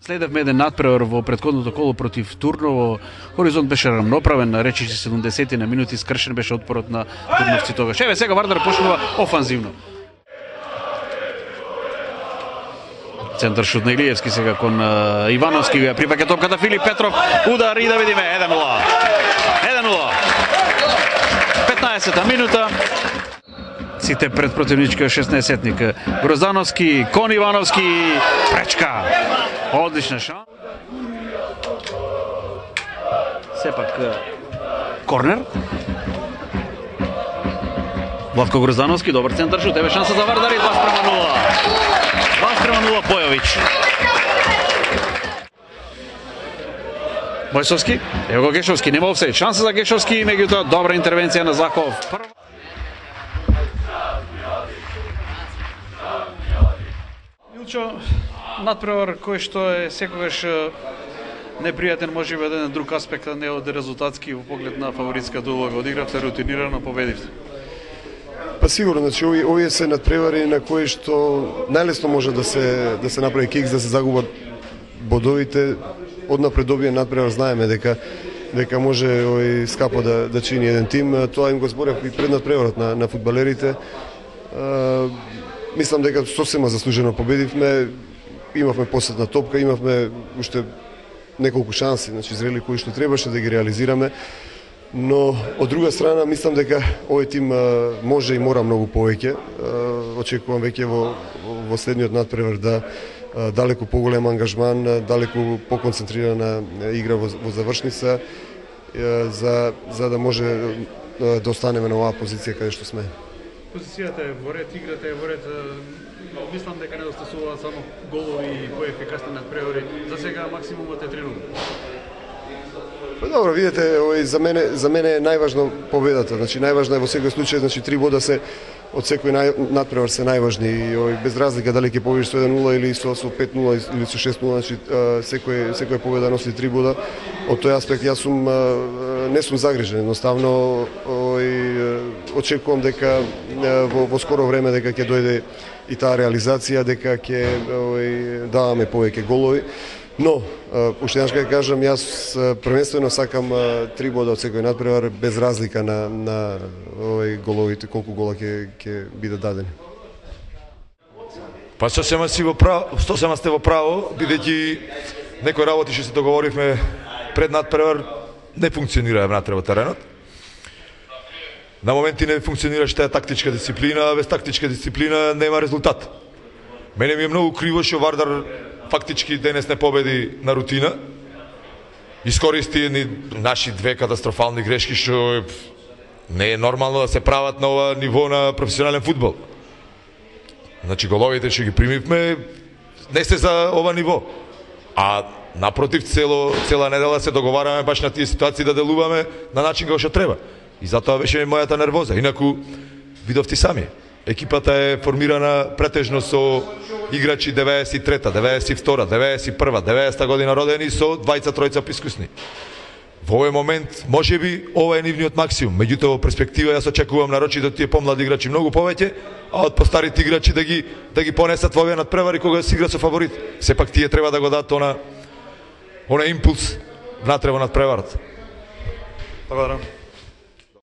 Следевме еден надпревар во претходното коло против Турново. Хоризонт беше рамноправен, речиси 70 на минути, скршен беше отпорот на турновци тогаш. Еве сега Вардар почнува офанзивно. Центар шут на Илиевски сега кон Ивановски, припаѓа топката Филип Петров, удар и да видиме 1-0. 1-0. 15-та минута. Сите пред противничкиот 16-тник. Гроздановски, кон Ивановски, пречка. Одлична шанса. Сепак корнер. Владко Гроздановски, добар центар шут, еве шанса за Вардар и 2-0. 2-0 Појовиќ. Бојсовски, ево го Гешовски, нема офсајд. Шанса за Гешовски, меѓутоа добра интервенција на Захов. Илчо, надпревар кој што е секогаш непријатен, може би еден друг аспект, а не од резултатски во поглед на фаворитската улога. Одигравте рутинирано, победивте. Па сигурно, значи овие се надпревари на кои што најлесно може да се направи кикс, да се загубат бодовите. Однапред добиен надпревар знаеме дека може скапо да чини еден тим. Тоа им го зборев и пред надпреварот на фудбалерите. Мислам дека сосема заслужено победивме. Имавме последна топка, имавме уште неколку шанси, значи зрели кои што требаше да ги реализираме. Но од друга страна мислам дека овој тим може и мора многу повеќе. Очекувам веќе во следниот надпревар да далеку поголем ангажман, далеку поконцентрирана игра во завршница за да може да останеме на оваа позиција каде што сме. Позицијата е во ред, играта е во ред. Мислам дека недостасуваат само голови и поефикасни надпревари. За сега максимумот е 3-0. Добро, видите, за мене е најважно победата. Значи најважно е во секој случај, значи 3 бода се од секој надпревар се најважни и без разлика дали ќе победиш со 1-0 или со 5-0 или со 6-0, значи секоја победа носи 3 бода. Од тој аспект јас не сум загрижен, едноставно очекувам дека во скоро време дека ќе дојде и таа реализација, дека ќе даваме повеќе голови. Но, уште еднаш ќе кажам, јас првенствено сакам 3 бода од секој надпревар, без разлика на головите, колку гола ќе биде дадени. Па сосема сте во право, бидејќи некои работи што се договоривме пред надпревар не функционира внатре во теренот. На моменти не функционираше таа тактичка дисциплина, а без тактичка дисциплина нема резултат. Мене ми е многу криво што Вардар фактички денес не победи на рутина. Искористи едни наши две катастрофални грешки што не е нормално да се прават на ова ниво на професионален фудбал. Значи головите што ги примивме не се за ова ниво. А напротив, цела недела се договараме баш на тие ситуации да делуваме на начин како што треба. И затоа беше мојата нервоза. Инаку видовте сами. Екипата е формирана претежно со играчи 93-та, 92-та, 91-та, 90-та година родени со двајца-тројца искусни. Во овој момент можеби ова е нивниот максимум, меѓутоа во перспектива јас очекувам нарочито тие помлади играчи многу повеќе, а од постарите играчи да ги понесат во овие надпревари кога се игра со фаворит. Сепак тие треба да го дадат она импулс внатре во надпреварот. Благодарам.